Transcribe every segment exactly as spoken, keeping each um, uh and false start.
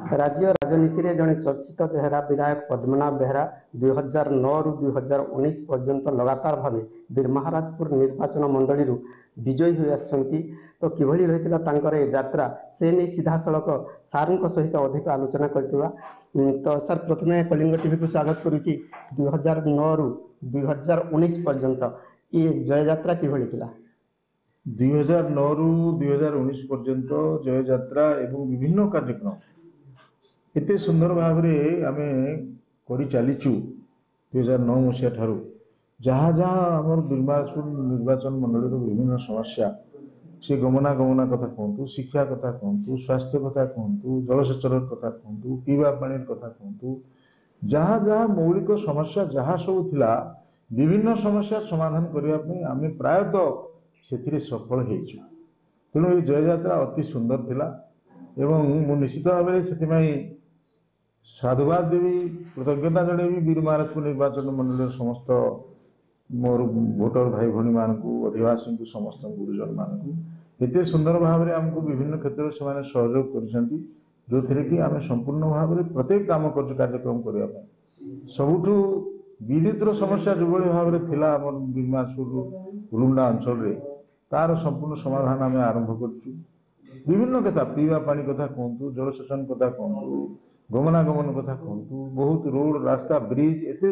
ରାଜ୍ୟ ରାଜନୀତିରେ ଜଣେ ଚର୍ଚ୍ଚିତ ଚେହେରା ବିଧାୟକ ପଦ୍ମନାଭ ବେହେରା ଦୁଇ ହଜାର ନଅରୁ ଦୁଇ ହଜାର ଉଣେଇଶ ପର୍ଯ୍ୟନ୍ତ ଲଗାତାର ଭାବେ ବୀରମହାରାଜପୁର ନିର୍ବାଚନ ମଣ୍ଡଳୀରୁ ବିଜୟୀ ହୋଇ ଆସିଛନ୍ତି। ତ କିଭଳି ରହିଥିଲା ତାଙ୍କର ଏ ଯାତ୍ରା, ସେ ନେଇ ସିଧାସଳଖ ସାର୍ଙ୍କ ସହିତ ଅଧିକ ଆଲୋଚନା କରିଥିବା। ତ ସାର୍, ପ୍ରଥମେ କଳିଙ୍ଗ ଟିଭିକୁ ସ୍ୱାଗତ କରୁଛି। ଦୁଇ ହଜାର ନଅରୁ ଦୁଇ ହଜାର ଉଣେଇଶ ପର୍ଯ୍ୟନ୍ତ ଏ ଜୟଯାତ୍ରା କିଭଳି ଥିଲା? ଦୁଇ ହଜାର ନଅରୁ ଦୁଇ ହଜାର ଉଣେଇଶ ପର୍ଯ୍ୟନ୍ତ ଜୟଯାତ୍ରା ଏବଂ ବିଭିନ୍ନ କାର୍ଯ୍ୟକ୍ରମ ଏତେ ସୁନ୍ଦର ଭାବରେ ଆମେ କରିଚାଲିଛୁ ଦୁଇ ହଜାର ନଅ ମସିହା ଠାରୁ। ଯାହା ଯାହା ଆମର ବୀରମହାରାଜପୁର ନିର୍ବାଚନ ମଣ୍ଡଳୀର ବିଭିନ୍ନ ସମସ୍ୟା, ସେ ଗମନାଗମନ କଥା କୁହନ୍ତୁ, ଶିକ୍ଷା କଥା କୁହନ୍ତୁ, ସ୍ୱାସ୍ଥ୍ୟ କଥା କୁହନ୍ତୁ, ଜଳସେଚନର କଥା କୁହନ୍ତୁ, ପିଇବା ପାଣିର କଥା କୁହନ୍ତୁ, ଯାହା ଯାହା ମୌଳିକ ସମସ୍ୟା ଯାହା ସବୁ ଥିଲା, ବିଭିନ୍ନ ସମସ୍ୟା ସମାଧାନ କରିବା ପାଇଁ ଆମେ ପ୍ରାୟତଃ ସେଥିରେ ସଫଳ ହେଇଛୁ। ତେଣୁ ଏ ଜୟଯାତ୍ରା ଅତି ସୁନ୍ଦର ଥିଲା ଏବଂ ମୁଁ ନିଶ୍ଚିତ ଭାବରେ ସେଥିପାଇଁ ସାଧୁବାଦ ଦେବି, କୃତଜ୍ଞତା ଜଣେଇବି ବୀରମହାରାଜପୁର ନିର୍ବାଚନ ମଣ୍ଡଳୀର ସମସ୍ତ ମୋର ଭୋଟର ଭାଇ ଭଉଣୀମାନଙ୍କୁ, ଅଧିବାସୀଙ୍କୁ, ସମସ୍ତ ଗୁରୁଜନମାନଙ୍କୁ। ଏତେ ସୁନ୍ଦର ଭାବରେ ଆମକୁ ବିଭିନ୍ନ କ୍ଷେତ୍ରରେ ସେମାନେ ସହଯୋଗ କରିଛନ୍ତି, ଯେଉଁଥିରେ କି ଆମେ ସମ୍ପୂର୍ଣ୍ଣ ଭାବରେ ପ୍ରତ୍ୟେକ କାମ କରୁଛୁ କାର୍ଯ୍ୟକ୍ରମ କରିବା ପାଇଁ। ସବୁଠୁ ବିଦ୍ୟୁତର ସମସ୍ୟା ଯେଉଁଭଳି ଭାବରେ ଥିଲା ଆମର ବୀରମହାରାଜପୁର ଉଲୁଣ୍ଡା ଅଞ୍ଚଳରେ, ତାର ସମ୍ପୂର୍ଣ୍ଣ ସମାଧାନ ଆମେ ଆରମ୍ଭ କରିଛୁ। ବିଭିନ୍ନ କଥା, ପିଇବା ପାଣି କଥା କୁହନ୍ତୁ, ଜଳସେଚନ କଥା କୁହନ୍ତୁ, ଗମନାଗମନ କଥା କୁହନ୍ତୁ, ବହୁତ ରୋଡ଼, ରାସ୍ତା, ବ୍ରିଜ ଏତେ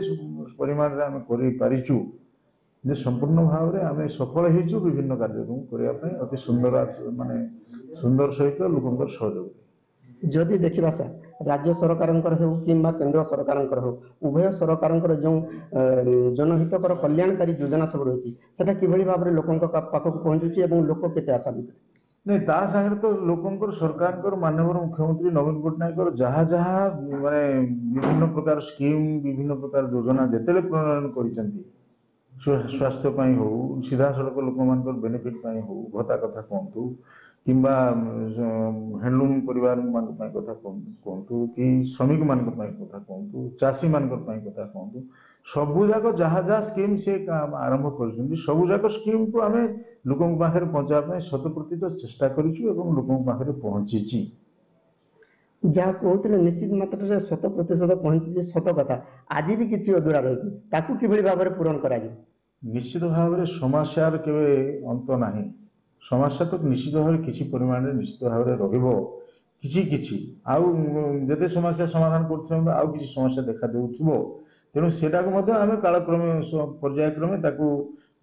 ପରିମାଣରେ ଆମେ କରିପାରିଛୁ ଯେ ସମ୍ପୂର୍ଣ୍ଣ ଭାବରେ ଆମେ ସଫଳ ହେଇଛୁ ବିଭିନ୍ନ କାର୍ଯ୍ୟକ୍ରମ କରିବା ପାଇଁ, ଅତି ସୁନ୍ଦର ମାନେ ସୁନ୍ଦର ସହିତ ଲୋକଙ୍କର ସହଯୋଗ। ଯଦି ଦେଖିବା ସାର୍, ରାଜ୍ୟ ସରକାରଙ୍କର ହେଉ କିମ୍ବା କେନ୍ଦ୍ର ସରକାରଙ୍କର ହେଉ, ଉଭୟ ସରକାରଙ୍କର ଯେଉଁ ଜନହିତକର କଲ୍ୟାଣକାରୀ ଯୋଜନା ସବୁ ରହିଛି, ସେଟା କିଭଳି ଭାବରେ ଲୋକଙ୍କ ପାଖକୁ ପହଞ୍ଚୁଛି ଏବଂ ଲୋକ କେତେ ଆଶାନ୍ୱିତ? ନାଇଁ, ତା ସାଙ୍ଗରେ ତ ଲୋକଙ୍କର, ସରକାରଙ୍କର, ମାନ୍ୟବର ମୁଖ୍ୟମନ୍ତ୍ରୀ ନବୀନ ପଟ୍ଟନାୟକଙ୍କର ଯାହା ଯାହା ମାନେ ବିଭିନ୍ନ ପ୍ରକାର ସ୍କିମ୍, ବିଭିନ୍ନ ପ୍ରକାର ଯୋଜନା ଯେତେବେଳେ ପ୍ରଣୟନ କରିଛନ୍ତି, ସ୍ୱାସ୍ଥ୍ୟ ପାଇଁ ହଉ, ସିଧାସଳଖ ଲୋକମାନଙ୍କର ବେନିଫିଟ୍ ପାଇଁ ହଉ, ଭତ୍ତା କଥା କୁହନ୍ତୁ କିମ୍ବା ହ୍ୟାଣ୍ଡଲୁମ୍ ପରିବାରମାନଙ୍କ ପାଇଁ କଥା କୁହନ୍ତୁ କି ଶ୍ରମିକମାନଙ୍କ ପାଇଁ କଥା କୁହନ୍ତୁ, ଚାଷୀମାନଙ୍କ ପାଇଁ କଥା କୁହନ୍ତୁ, ସବୁଯାକ ଯାହା ଯାହା ସ୍କିମ୍ ସେ ଆରମ୍ଭ କରିଛନ୍ତି, ସବୁଯାକ ସ୍କିମ୍କୁ ଆମେ ଲୋକଙ୍କ ପାଖରେ ପହଞ୍ଚାଇବା ପାଇଁ ଶତ ପ୍ରତିଶତ ଚେଷ୍ଟା କରିଛୁ ଏବଂ ଲୋକଙ୍କ ପାଖରେ ପହଞ୍ଚିଛି। ଯାହା କହୁଥିଲେ ନିଶ୍ଚିତ ମାତ୍ରାରେ ଶତ ପ୍ରତିଶତ ପହଞ୍ଚିଛି, ସତ କଥା। ଆଜି ବି କିଛି ଅଧୁରା ରହିଛି, ତାକୁ କିଭଳି ଭାବରେ ପୂରଣ କରାଯିବ? ନିଶ୍ଚିତ ଭାବରେ ସମସ୍ୟାର କେବେ ଅନ୍ତ ନାହିଁ। ସମସ୍ୟା ତ ନିଶ୍ଚିତ ଭାବରେ କିଛି ପରିମାଣରେ ନିଶ୍ଚିତ ଭାବରେ ରହିବ କିଛି କିଛି। ଆଉ ଯେତେ ସମସ୍ୟା ସମାଧାନ କରୁଥିଲେ ଆଉ କିଛି ସମସ୍ୟା ଦେଖା ଦେଉଥିବ। ତେଣୁ ସେଟାକୁ ମଧ୍ୟ ଆମେ କାଳକ୍ରମେ, ପର୍ଯ୍ୟାୟକ୍ରମେ ତାକୁ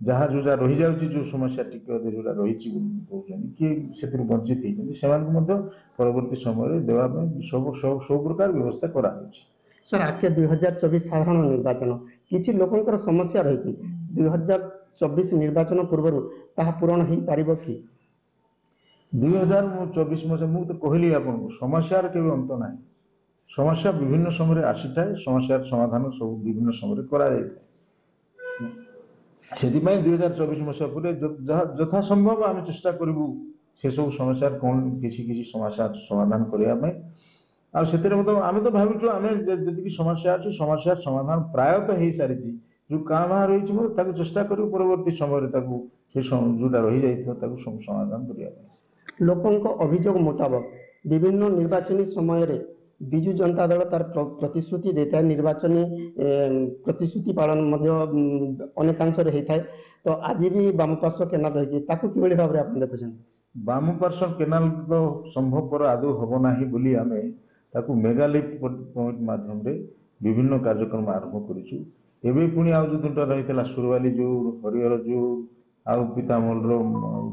ଯାହା ଯୋଉଟା ରହିଯାଉଛି, ଯୋଉ ସମସ୍ୟା ଟିକେ ଅଧେ ଯୋଉଟା ରହିଛି କହୁଛନ୍ତି କି ସେଥିରୁ ବଞ୍ଚିତ ହେଇଛନ୍ତି, ସେମାନଙ୍କୁ ମଧ୍ୟ ପରବର୍ତ୍ତୀ ସମୟରେ ଦେବା ପାଇଁ ସବୁ ସବୁ ପ୍ରକାର ବ୍ୟବସ୍ଥା କରାଯାଉଛି। ସାର୍, ଆଗକେ ଦୁଇ ହଜାର ଚବିଶ ସାଧାରଣ ନିର୍ବାଚନ, କିଛି ଲୋକଙ୍କର ସମସ୍ୟା ରହିଛି, ଦୁଇ ହଜାର ଚବିଶ ନିର୍ବାଚନ ପୂର୍ବରୁ ତାହା ପୂରଣ ହେଇପାରିବ କି? ଦୁଇ ହଜାର ଚବିଶ ମସିହା, ମୁଁ ତ କହିଲି ଆପଣଙ୍କୁ, ସମସ୍ୟାର କେବେ ଅନ୍ତ ନାହିଁ। ସମସ୍ୟା ବିଭିନ୍ନ ସମୟରେ ଆସିଥାଏ, ସମସ୍ୟାର ସମାଧାନ ସବୁ ବିଭିନ୍ନ ସମୟରେ କରାଯାଇଥାଏ। ସେଥିପାଇଁ ଦୁଇ ହଜାର ଚବିଶ ମସିହା ପରେ ଯଥା ସମ୍ଭବ ଆମେ ଚେଷ୍ଟା କରିବୁ ସେସବୁ ସମସ୍ୟାର କ'ଣ କିଛି କିଛି ସମସ୍ୟାର ସମାଧାନ କରିବା ପାଇଁ। ଆଉ ସେଥିରେ ମଧ୍ୟ ଆମେ ତ ଭାବୁଛୁ, ଆମେ ଯେତିକି ସମସ୍ୟା ଅଛି ସମସ୍ୟାର ସମାଧାନ ପ୍ରାୟତଃ ହେଇସାରିଛି। ଯୋଉ କାଁ ଭାଁ ରହିଛି ମଧ୍ୟ ତାକୁ ଚେଷ୍ଟା କରିବୁ ପରବର୍ତ୍ତୀ ସମୟରେ ତାକୁ ସେ ଯୋଉଟା ରହିଯାଇଥିବ ତାକୁ ସମାଧାନ କରିବା ପାଇଁ। ଲୋକଙ୍କ ଅଭିଯୋଗ ମୁତାବକ ବିଭିନ୍ନ ନିର୍ବାଚନୀ ସମୟରେ ବିଜୁ ଜନତା ଦଳ ତାର ପ୍ରତିଶ୍ରୁତି ଦେଇଥାଏ, ନିର୍ବାଚନୀ ପ୍ରତିଶ୍ରୁତି ପାଳନ ମଧ୍ୟ ଅନେକାଂଶରେ ହେଇଥାଏ। ତ ଆଜି ବି ବାମପାର୍ଶ୍ୱ କେନାଲ ରହିଛି, ତାକୁ କିଭଳି ଭାବରେ ଆପଣ ଦେଖୁଛନ୍ତି? ବାମପାର୍ଶ୍ୱ କେନାଲ ତ ସମ୍ଭବପର ଆଦୌ ହେବ ନାହିଁ ବୋଲି ଆମେ ତାକୁ ମେଗା ଲିଫ୍ଟ ପଏଣ୍ଟ ମାଧ୍ୟମରେ ବିଭିନ୍ନ କାର୍ଯ୍ୟକ୍ରମ ଆରମ୍ଭ କରିଛୁ। ଏବେ ପୁଣି ଆଉ ଯୋଉ ଦୁଇଟା ରହିଥିଲା, ସୁରବାଲି ଯୋଉ, ହରିହର ଯୋଉ ଆଉ ପିତାମହଲର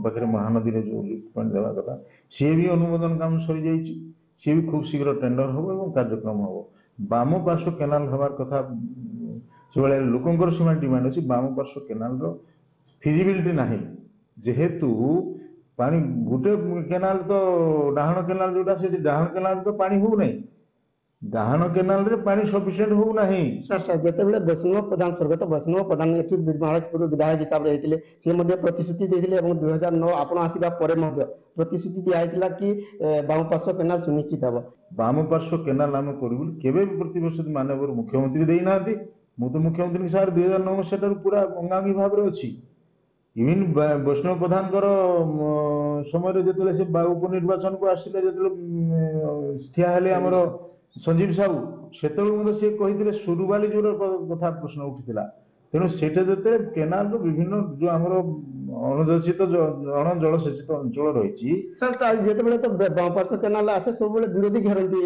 ପାଖରେ ମହାନଦୀରେ ଯୋଉ ଲିଫ୍ଟ ପଏଣ୍ଟ ଦେବା କଥା, ସିଏ ବି ଅନୁମୋଦନ କାମ ସରିଯାଇଛି। ସିଏ ବି ଖୁବ୍ ଶୀଘ୍ର ଟେଣ୍ଡର ହେବ ଏବଂ କାର୍ଯ୍ୟକ୍ରମ ହେବ। ବାମ ପାର୍ଶ୍ୱ କେନାଲ ହେବାର କଥା, ସେଭଳିଆ ଲୋକଙ୍କର ସେମାନେ ଡିମାଣ୍ଡ ଅଛି। ବାମ ପାର୍ଶ୍ୱ କେନାଲର ଫିଜିବିଲିଟି ନାହିଁ, ଯେହେତୁ ପାଣି ଗୋଟେ କେନାଲ ତ ଡାହାଣ କେନାଲ ଯୋଉଟା, ସେ ଡାହାଣ କେନାଲ ତ ପାଣି ହଉନାହିଁ, ଡାହାଣ କେନାଲରେ ପାଣି ସଫିସିଏଣ୍ଟ ହଉନାହିଁ। ସାର୍ ସାର୍ ଯେତେବେଳେ ବୈଷ୍ଣବ ପ୍ରଧାନ, ସ୍ୱର୍ଗତ ବୈଷ୍ଣବ ପ୍ରଧାନ ଏଠି ମହାରାଜପୁର ବିଧାୟକ ହିସାବରେ ହେଇଥିଲେ, ସେ ମଧ୍ୟ ପ୍ରତିଶ୍ରୁତି ଦେଇଥିଲେ ଏବଂ ଦୁଇ ହଜାର ନଅ ଆପଣ ଆସିବା ପରେ ମଧ୍ୟ ପ୍ରତିଶ୍ରୁତି ଦିଆହେଇଥିଲା କି ବାମ ପାର୍ଶ୍ୱ କେନାଲ ସୁନିଶ୍ଚିତ ହେବ। ବାମ ପାର୍ଶ୍ୱ କେନାଲ ଆମେ କରିବୁ କେବେ ବି ପ୍ରତିଶ୍ରୁତି ମାନ୍ୟବର ମୁଖ୍ୟମନ୍ତ୍ରୀ ଦେଇନାହାନ୍ତି। ମୁଁ ତ ମୁଖ୍ୟମନ୍ତ୍ରୀଙ୍କ ସାର୍ ଦୁଇ ହଜାର ନଅ ମସିହାଠାରୁ ପୁରା ଅଙ୍ଗାଙ୍ଗୀ ଭାବରେ ଅଛି। ଇଭିନ୍ ବୈଷ୍ଣବ ପ୍ରଧାନଙ୍କର ସମୟରେ ଯେତେବେଳେ ସେ ଉପନିର୍ବାଚନକୁ ଆସିଲେ, ଯେତେବେଳେ ଠିଆ ହେଲେ ଆମର ସଞ୍ଜୀବ ସାହୁ, ସେତେବେଳେ ମଧ୍ୟ ସେ କହିଥିଲେ ସୁରୁବାଲି ଯୋଉର କଥା ପ୍ରଶ୍ନ ଉଠିଥିଲା। ତେଣୁ ସେଇଟା ଯେତେବେଳେ କେନାଲର ବିଭିନ୍ନ ଯୋଉ ଆମର ଅଣଜଳସେଚିତ ଅଣ ଜଳସେଚିତ ଅଞ୍ଚଳ ରହିଛି ସାର୍, ଯେତେବେଳେ ତ ବାଁପାର୍ଶ୍ୱ କେନାଲ ଆସେ ସବୁବେଳେ ବିରୋଧୀ ଘେରନ୍ତି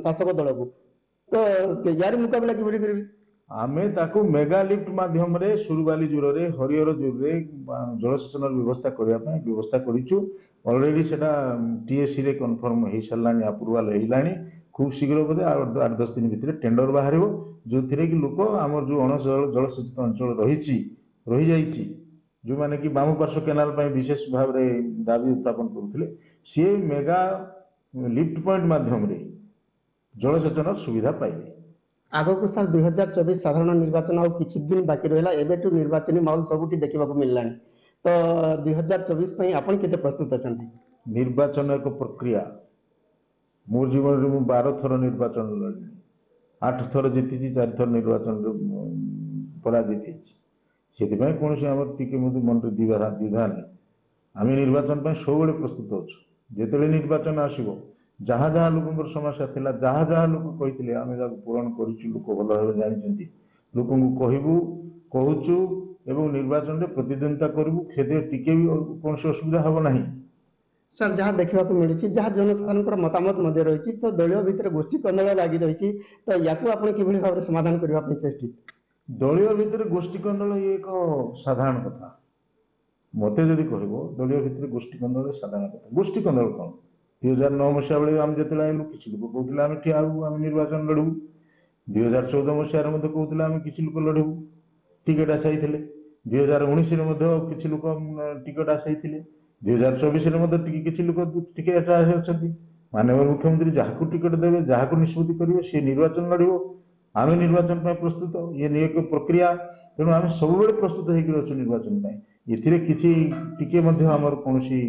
ଶାସକ ଦଳକୁ, ତ ୟାର ମୁକାବିଲା କିଭଳି କରିବେ? ଆମେ ତାକୁ ମେଗା ଲିଫ୍ଟ ମାଧ୍ୟମରେ ସୁରୁବାଲି ଜୁରରେ, ହରିହର ଜୁରରେ ଜଳସେଚନର ବ୍ୟବସ୍ଥା କରିବା ପାଇଁ ବ୍ୟବସ୍ଥା କରିଛୁ। ଅଲରେଡି ସେଟା ଟିଏସିରେ କନଫର୍ମ ହେଇସାରିଲାଣି, ଆପ୍ରୁଭାଲ ହେଇଲାଣି। ଖୁବ୍ ଶୀଘ୍ର ବୋଧେ ଆଉ ଆଠ ଦଶ ଦିନ ଭିତରେ ଟେଣ୍ଡର ବାହାରିବ, ଯୋଉଥିରେ କି ଲୋକ ଆମର ଯୋଉ ଅଣ ଜଳସେଚିତ ଅଞ୍ଚଳ ରହିଛି, ରହିଯାଇଛି, ଯୋଉମାନେ କି ବାମ ପାର୍ଶ୍ୱ କେନାଲ ପାଇଁ ବିଶେଷ ଭାବରେ ଦାବି ଉତ୍ଥାପନ କରୁଥିଲେ, ସିଏ ମେଗା ଲିଫ୍ଟ ପଏଣ୍ଟ ମାଧ୍ୟମରେ ଜଳସେଚନର ସୁବିଧା ପାଇବେ। ଆଗକୁ ସାର୍ ଦୁଇ ହଜାର ଚବିଶ ସାଧାରଣ ନିର୍ବାଚନ ଆଉ କିଛି ଦିନ ବାକି ରହିଲା, ଏବେଠୁ ନିର୍ବାଚନୀ ମାହୋଲ ସବୁଠି ଦେଖିବାକୁ ମିଳିଲାଣି, ତ ଦୁଇ ହଜାର ଚବିଶ ପାଇଁ ଆପଣ କେତେ ପ୍ରସ୍ତୁତ ଅଛନ୍ତି? ନିର୍ବାଚନ ଏକ ପ୍ରକ୍ରିୟା। ମୋ ଜୀବନରେ ମୁଁ ବାର ଥର ନିର୍ବାଚନ ଲଢ଼ିଲି, ଆଠ ଥର ଜିତିଛି, ଚାରି ଥର ନିର୍ବାଚନରେ ପରାଜିତ ହେଇଛି। ସେଥିପାଇଁ କୌଣସି ଆମର ଟିକେ ମଧ୍ୟ ମନରେ ଦ୍ୱିଧା ଦ୍ୱିଧା ନାହିଁ। ଆମେ ନିର୍ବାଚନ ପାଇଁ ସବୁବେଳେ ପ୍ରସ୍ତୁତ ଅଛୁ। ଯେତେବେଳେ ନିର୍ବାଚନ ଆସିବ, ଯାହା ଯାହା ଲୋକଙ୍କର ସମସ୍ୟା ଥିଲା, ଯାହା ଯାହା ଲୋକ କହିଥିଲେ, ଆମେ ତାକୁ ପୂରଣ କରିଛୁ। ଲୋକ ଭଲ ଭାବେ ଜାଣିଛନ୍ତି। ଲୋକଙ୍କୁ କହିବୁ, କହୁଛୁ ଏବଂ ନିର୍ବାଚନରେ ପ୍ରତିଦ୍ୱନ୍ଦିତା କରିବୁ, ସେଥିରେ ଟିକେ ବି କୌଣସି ଅସୁବିଧା ହେବ ନାହିଁ। ସାର୍, ଯାହା ଦେଖିବାକୁ ମିଳୁଛି, ଯାହା ଜନସାଧାରଣଙ୍କର ମତାମତ ମଧ୍ୟ ରହିଛି, ତ ଦଳୀୟ ଭିତରେ ଗୋଷ୍ଠୀ କନ୍ଦଳ ଲାଗି ରହିଛି, ତ ୟାକୁ ଆପଣ କିଭଳି ଭାବରେ ସମାଧାନ କରିବା ପାଇଁ ଚେଷ୍ଟିତ? ଦଳୀୟ ଭିତରେ ଗୋଷ୍ଠୀ କନ୍ଦଳ ଇଏ ଏକ ସାଧାରଣ କଥା। ମତେ ଯଦି କହିବ, ଦଳୀୟ ଭିତରେ ଗୋଷ୍ଠୀ କନ୍ଦଳ ସାଧାରଣ କଥା। ଗୋଷ୍ଠୀ କନ୍ଦଳ କ'ଣ? ଦୁଇ ହଜାର ନଅ ମସିହା ବେଳେ ଆମେ ଯେତେବେଳେ ଆଇଲୁ, କିଛି ଲୋକ କହୁଥିଲେ ଆମେ ଠିଆ ହବୁ, ଆମେ ନିର୍ବାଚନ ଲଢ଼ିବୁ। ଦୁଇ ହଜାର ଚଉଦ ମସିହାରେ ମଧ୍ୟ କହୁଥିଲେ ଆମେ କିଛି ଲୋକ ଲଢ଼ିବୁ, ଟିକେଟ ଆଶାୟୀ ଥିଲେ। ଦୁଇ ହଜାର ଉଣେଇଶରେ ମଧ୍ୟ କିଛି ଲୋକ ଟିକେଟ ଆଶାୟୀ ଥିଲେ। ଦୁଇ ହଜାର ଚବିଶରେ ମଧ୍ୟ ଟିକେ କିଛି ଲୋକ ଟିକେଟ ଆଶାୟୀ ଅଛନ୍ତି। ମାନ୍ୟବର ମୁଖ୍ୟମନ୍ତ୍ରୀ ଯାହାକୁ ଟିକେଟ ଦେବେ, ଯାହାକୁ ନିଷ୍ପତ୍ତି କରିବେ, ସେ ନିର୍ବାଚନ ଲଢ଼ିବ। ଆମେ ନିର୍ବାଚନ ପାଇଁ ପ୍ରସ୍ତୁତ। ଇଏ ଏକ ପ୍ରକ୍ରିୟା, ତେଣୁ ଆମେ ସବୁବେଳେ ପ୍ରସ୍ତୁତ ହେଇକି ଅଛୁ ନିର୍ବାଚନ ପାଇଁ। ଏଥିରେ କିଛି ଟିକେ ମଧ୍ୟ ଆମର କୌଣସି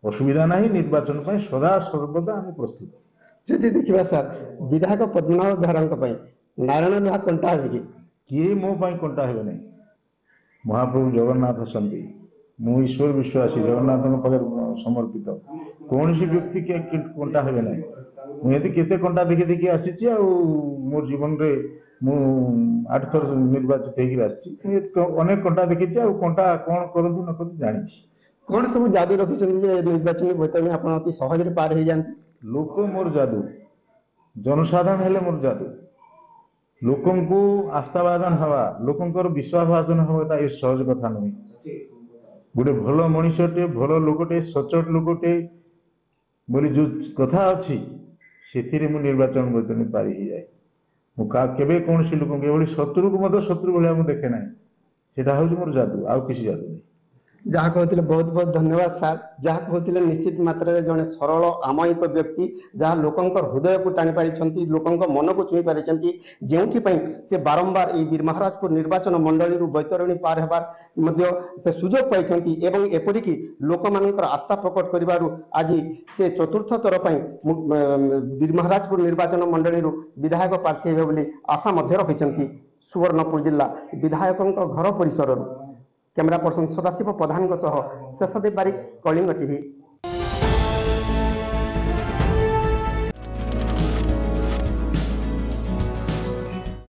ଅସୁବିଧା ନାହିଁ। ନିର୍ବାଚନ ପାଇଁ ସଦା ସର୍ବଦା ଆମେ ପ୍ରସ୍ତୁତ। ଯଦି ଦେଖିବା ସାର୍, ବିଧାୟକ ପଦ୍ମନାଭ ବେହେରାଙ୍କ ପାଇଁ ନାରାୟଣ ଲୁହା କଣ୍ଟା ହେବେ କି? କିଏ ମୋ ପାଇଁ କଣ୍ଟା ହେବେ ନାହିଁ। ମହାପ୍ରଭୁ ଜଗନ୍ନାଥ ଅଛନ୍ତି। ମୁଁ ଈଶ୍ୱର ବିଶ୍ୱାସୀ, ଜଗନ୍ନାଥଙ୍କ ପାଖରେ ସମର୍ପିତ। କୌଣସି ବ୍ୟକ୍ତି କଣ୍ଟା ହେବେ ନାହିଁ। ମୁଁ ଏମିତି କେତେ କଣ୍ଟା ଦେଖି ଦେଖି ଆସିଛି, ଆଉ ମୋର ଜୀବନରେ ମୁଁ ଆଠ ଥର ନିର୍ବାଚିତ ହେଇକିରି ଆସିଛି। ମୁଁ ଅନେକ କଣ୍ଟା ଦେଖିଛି, ଆଉ କଣ୍ଟା କ'ଣ କରନ୍ତି ନ କରନ୍ତି ଜାଣିଛି। କ'ଣ ସବୁ ଯାଦୁ ରଖିଛନ୍ତି ଯେ ନିର୍ବାଚନୀ ବୈତରଣୀ ଆପଣ ଅତି ସହଜରେ ପାର ହେଇଯାନ୍ତି? ଲୋକ ମୋର ଯାଦୁ, ଜନସାଧାରଣ ହେଲେ ମୋର ଯାଦୁ। ଲୋକଙ୍କୁ ଆସ୍ଥାଭାଜନ ହେବା, ଲୋକଙ୍କର ବିଶ୍ୱାସଭାଜନ ହେବା ଏ ସହଜ କଥା ନୁହେଁ। ଗୋଟେ ଭଲ ମଣିଷଟେ, ଭଲ ଲୋକଟେ, ସଚୋଟ ଲୋକଟେ ବୋଲି ଯୋଉ କଥା ଅଛି, ସେଥିରେ ମୁଁ ନିର୍ବାଚନ ବୈତରଣୀ ପାରି ହେଇଯାଏ। ମୁଁ କେବେ କୌଣସି ଲୋକଙ୍କୁ ଏଭଳି ଶତ୍ରୁକୁ ମଧ୍ୟ ଶତ୍ରୁ ଭଳିଆ ମୁଁ ଦେଖେ ନାହିଁ। ସେଇଟା ହେଉଛି ମୋର ଯାଦୁ, ଆଉ କିଛି ଯାଦୁ ନାହିଁ। ଯାହା କହୁଥିଲେ, ବହୁତ ବହୁତ ଧନ୍ୟବାଦ ସାର୍। ଯାହା କହୁଥିଲେ, ନିଶ୍ଚିତ ମାତ୍ରାରେ ଜଣେ ସରଳ ଅମାୟିକ ବ୍ୟକ୍ତି, ଯାହା ଲୋକଙ୍କ ହୃଦୟକୁ ଟାଣି ପାରିଛନ୍ତି, ଲୋକଙ୍କ ମନକୁ ଛୁଇଁ ପାରିଛନ୍ତି, ଯେଉଁଥିପାଇଁ ସେ ବାରମ୍ବାର ଏଇ ବୀରମହାରାଜପୁର ନିର୍ବାଚନ ମଣ୍ଡଳୀରୁ ବୈତରଣୀ ପାର ହେବାର ମଧ୍ୟ ସେ ସୁଯୋଗ ପାଇଛନ୍ତି ଏବଂ ଏପରିକି ଲୋକମାନଙ୍କର ଆସ୍ଥା ପ୍ରକଟ କରିବାରୁ ଆଜି ସେ ଚତୁର୍ଥ ଥର ପାଇଁ ବୀରମହାରାଜପୁର ନିର୍ବାଚନ ମଣ୍ଡଳୀରୁ ବିଧାୟକ ପ୍ରାର୍ଥୀ ହେବେ ବୋଲି ଆଶା ମଧ୍ୟ ରଖିଛନ୍ତି। ସୁବର୍ଣ୍ଣପୁର ଜିଲ୍ଲା ବିଧାୟକଙ୍କ ଘର ପରିସରରୁ କ୍ୟାମେରା ପର୍ସନ ସଦାଶିବ ପ୍ରଧାନଙ୍କ ସହ ଶେଷଦେବ ବାରିକ, କଳିଙ୍ଗ ଟିଭି,